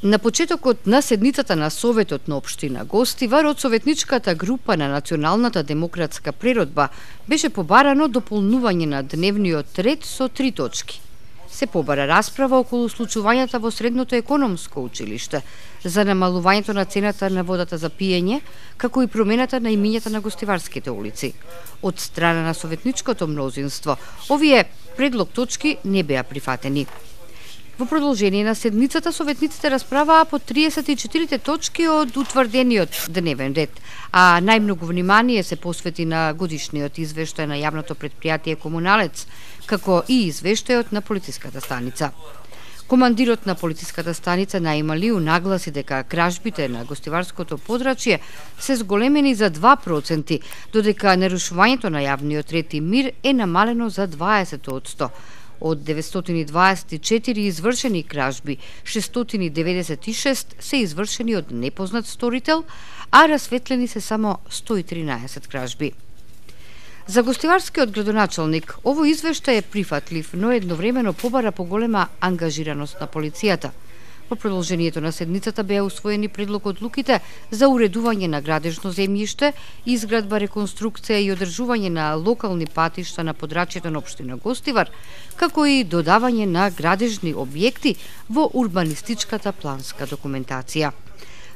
На почетокот на седницата на Советот на општина Гостивар од советничката група на Националната демократска природба беше побарано дополнување на дневниот ред со 3 точки. Се побара расправа околу случувањата во Средното економско училиште, за намалувањето на цената на водата за пиење, како и промената на имињата на гостиварските улици. Од страна на советничкото мнозинство, овие предлог точки не беа прифатени. Во продолжение на седницата, советниците расправаа по 34 точки од утврдениот дневен ред, а најмногу внимание се посвети на годишниот извештај на јавното предпријатие Комуналец, како и извештајот на полициската станица. Командирот на полициската станица Наималиу нагласи дека кражбите на гостиварското подрачје се зголемени за 2%, додека нарушувањето на јавниот ред и мир е намалено за 20%. Од 924 извршени кражби, 696 се извршени од непознат сторител, а расветлени се само 113 кражби. За гостиварскиот градоначалник, овој извештај е прифатлив, но едновремено побара поголема ангажираност на полицијата. Во продолжението на седницата беа усвоени предлог одлуките за уредување на градежно земјиште, изградба, реконструкција и одржување на локални патишта на подрачјето на општина Гостивар, како и додавање на градежни објекти во урбанистичката планска документација.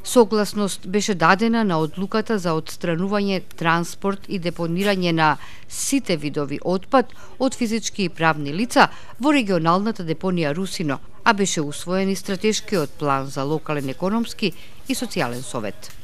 Согласност беше дадена на одлуката за отстранување, транспорт и депонирање на сите видови отпад од физички и правни лица во регионалната депонија Русино, а беше усвоен и стратешкиот план за локален економски и социјален совет.